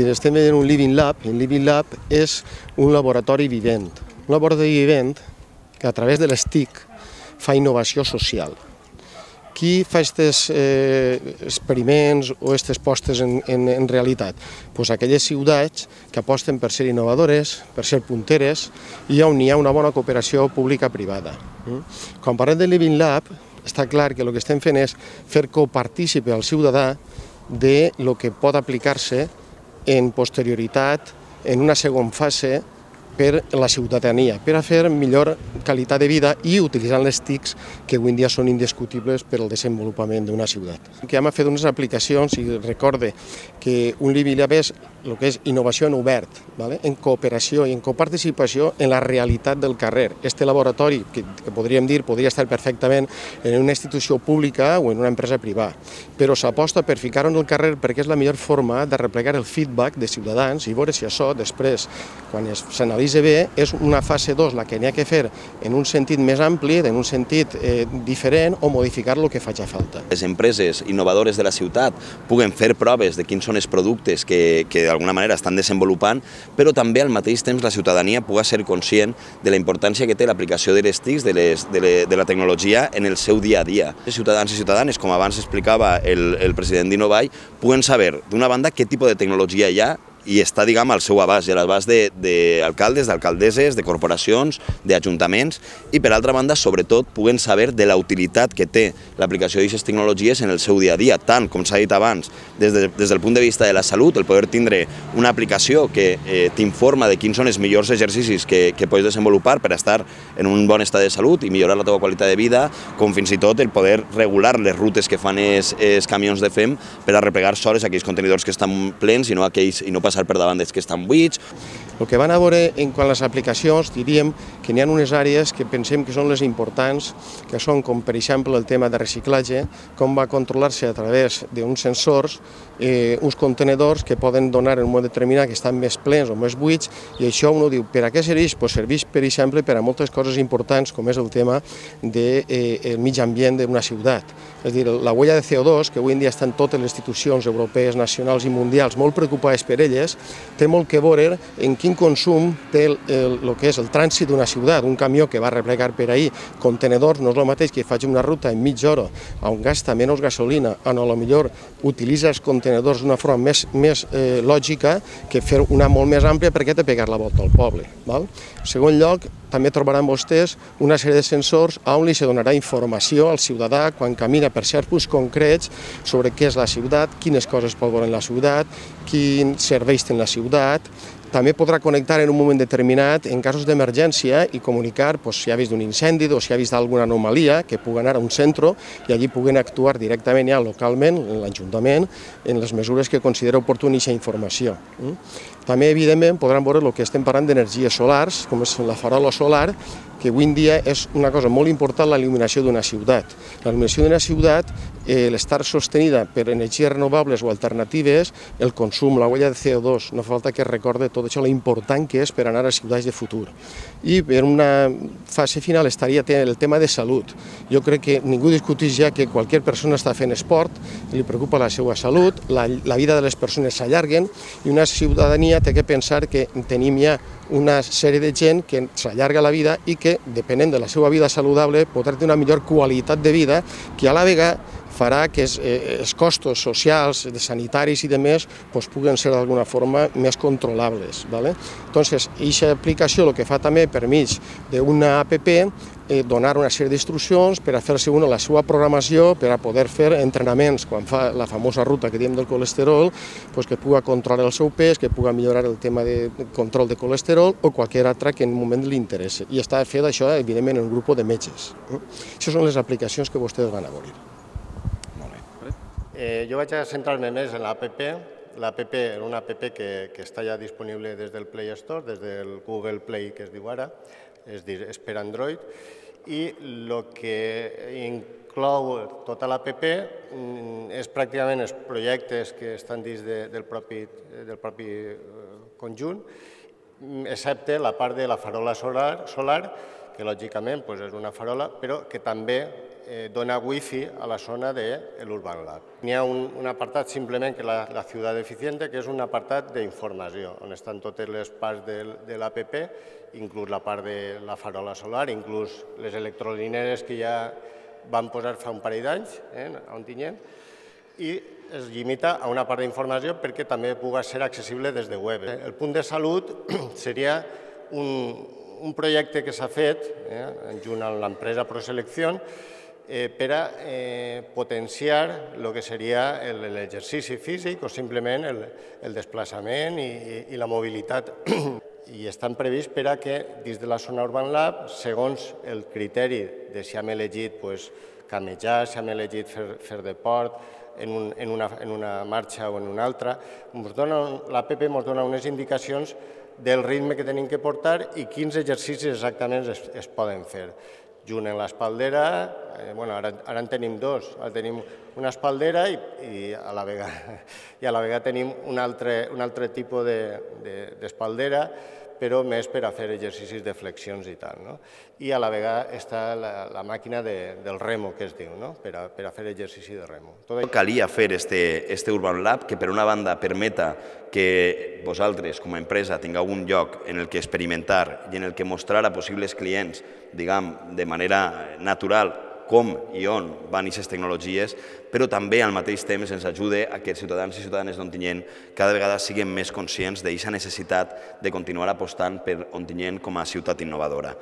estem veient un Living Lab. El Living Lab és un laboratori vivent. Un laboratori vivent que a través de les TIC fa innovació social. Qui fa aquests experiments o aquestes postes en realitat? Doncs aquelles ciutats que aposten per ser innovadores, per ser punteres i on hi ha una bona cooperació pública-privada. Quan parlem de Living Lab, està clar que el que estem fent és fer copartícipe al ciutadà de lo que pot aplicar-se en posterioritat, en una segona fase, per la ciutadania, per a fer millor qualitat de vida i utilitzant les TICs que avui en dia són indiscutibles per al desenvolupament d'una ciutat. Que hem fet unes aplicacions i recorde que un Living Lab és el que és innovació en obert, en cooperació i en coparticipació en la realitat del carrer. Este laboratori, que podríem dir, podria estar perfectament en una institució pública o en una empresa privada, però s'aposta per ficar-ho en el carrer perquè és la millor forma de replegar el feedback de ciutadans i veure si això després, quan s'analitza bé, és una fase 2 la que n'hi ha que fer en un sentit més ampli, en un sentit diferent o modificar el que faci falta. Les empreses innovadores de la ciutat puguen fer proves de quins són els productes que d'alguna manera estan desenvolupant, però també al mateix temps la ciutadania pugui ser conscient de la importància que té l'aplicació de les TICs, de la tecnologia en el seu dia a dia. Els ciutadans i ciutadanes, com abans explicava el president d'Innovai, puguen saber, d'una banda, què tipus de tecnologia hi ha i està, diguem, al seu abast, i a l'abast d'alcaldes, d'alcaldesses, de corporacions, d'ajuntaments, i per altra banda, sobretot, puguen saber de la utilitat que té l'aplicació d'aquestes tecnologies en el seu dia a dia, tant, com s'ha dit abans, des del punt de vista de la salut, el poder tindre una aplicació que t'informa de quins són els millors exercicis que pots desenvolupar per estar en un bon estat de salut i millorar la teva qualitat de vida, com fins i tot el poder regular les rutes que fan els camions de FEM per a replegar sols aquells contenidors que estan plens i no passar per davant dels que estan buits. El que van a veure en quant a les aplicacions, diríem que n'hi ha unes àrees que pensem que són les importants, que són com per exemple el tema de reciclatge, com va controlar-se a través d'uns sensors, uns contenedors que poden donar en un moment determinat que estan més plens o més buits, i això uno diu, per a què serveix? Doncs serveix, per exemple, per a moltes coses importants, com és el tema del mig ambient d'una ciutat. És a dir, la huella de CO2, que avui en dia estan totes les institucions europees, nacionals i mundials molt preocupades per elles, té molt que veure en quin consum té el que és el trànsit d'una ciutat. Un camió que va replegar per ahir contenedors no és el mateix que faci una ruta en mitja hora on gasta menys gasolina, on potser utilitza els contenidors d'una forma més lògica que fer una molt més àmplia perquè té de pegar la volta al poble. En segon lloc, també trobaran vostès una sèrie de sensors on li se donarà informació al ciutadà quan camina per certs punts concrets sobre què és la ciutat, quines coses pot veure en la ciutat, quins serveis té la ciutat. També podrà connectar en un moment determinat en casos d'emergència i comunicar si ha vist un incendi o si ha vist alguna anomalia, que pugui anar a un centre i allí puguen actuar directament ja localment, en l'Ajuntament, en les mesures que considera oportuna aquesta informació. També, evidentment, podran veure el que estem parlant d'energies solars, com és la farola solar, que avui en dia és una cosa molt important, la il·luminació d'una ciutat. La il·luminació d'una ciutat, l'estar sostenida per energies renovables o alternatives, el consum, la huella de CO2, no fa falta que recorde tot això, l'important que és per anar a ciutats de futur. I per una fase final estaria el tema de salut. Jo crec que ningú discuteix ja que qualsevol persona està fent esport, li preocupa la seva salut, la vida de les persones s'allarguen i una ciutadania té que pensar que tenim ja una sèrie de gent que s'allarga la vida i que, depenent de la seva vida saludable, podrà tenir una millor qualitat de vida que a la vegada farà que els costos socials, sanitaris i demés puguen ser d'alguna forma més controlables. Entonces, aquesta aplicació el que fa també per mig d'una app donar una sèrie d'instruccions per a fer-se la seva programació per a poder fer entrenaments quan fa la famosa ruta que diem del colesterol, que pugui controlar el seu pes, que pugui millorar el tema de control de colesterol o qualsevol altra que en un moment li interessi. I està fet això, evidentment, en un grup de metges. Això són les aplicacions que vostès van a veure. Jo vaig a centrar-me més en l'APP. L'APP és una app que està ja disponible des del Play Store, des del Google Play, que es diu ara, és per Android, i el que inclou tota l'APP és pràcticament els projectes que estan dins del propi conjunt, excepte la part de la farola solar, que lògicament és una farola, però que també dona wifi a la zona de l'Urban Lab. N'hi ha un apartat simplement que és la ciutat eficiente, que és un apartat d'informació, on estan totes les parts de l'APP, inclús la part de la farola solar, inclús les electrolineres que ja van posar fa un parell d'anys a Ontinyent, i es limita a una part d'informació perquè també pugui ser accessible des de web. El punt de salut seria un projecte que s'ha fet junt amb l'empresa ProSelección per a potenciar el que seria l'exercici físic o simplement el desplaçament i la mobilitat. I estan previst per a que dins de la zona Urban Lab, segons el criteri de si hem elegit camejar, si hem elegit fer deport en una marxa o en una altra, l'APP ens dona unes indicacions del ritme que tenim que portar i quins exercicis exactament es poden fer. Junt amb l'espaldera, ara en tenim dos, tenim una espaldera i a la vegada tenim un altre tipus d'espaldera, però més per a fer exercicis de flexions i tal. I a la vegada està la màquina del remo, que es diu, per a fer exercici de remo. Calia fer este Urban Lab que per una banda permeta que vosaltres com a empresa tingueu un lloc en el que experimentar i en el que mostrar a possibles clients, diguem, de manera natural, com i on van aquestes tecnologies, però també al mateix temps ens ajuda a que els ciutadans i ciutadanes d'Ontinyent cada vegada siguin més conscients d'aquesta necessitat de continuar apostant per Ontinyent com a ciutat innovadora.